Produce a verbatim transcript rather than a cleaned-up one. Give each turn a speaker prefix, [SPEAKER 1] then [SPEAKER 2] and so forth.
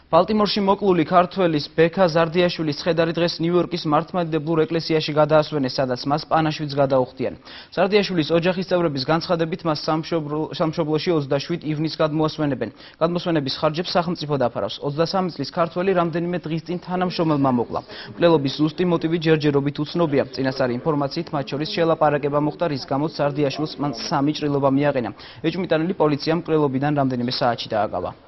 [SPEAKER 1] ბალტიმორში მოკლული ქართველის ბექა ზარდიაშვილის ცხედარი დღეს ნიუ-იორკის მართლმადიდებლურ ეკლესიაში გადაასვენეს, სადაც მას პანაშვიდს გადაუხდიან. ზარდიაშვილის ოჯახის წევრების განცხადებით, მას სამშობლოში ოცდაშვიდ ივნისს გადმოასვენებენ. გადმოსვენების ხარჯებს სახელმწიფო დაფარავს. ოცდასამი წლის ქართველი რამდენიმე დღის წინ თანამშრომელმა მოკლა. მკვლელობის ზუსტი მოტივი ჯერჯერობით უცნობია. წინასწარი ინფორმაციით, მათ შორის შელაპარაკება მოხდა, რის გამოც ზარდიაშვილს მან სამი ჭრილობა მიაყენა. ეჭვმიტანილი პოლიციამ მკვლელობიდან რამდენიმე საათში დააგავა.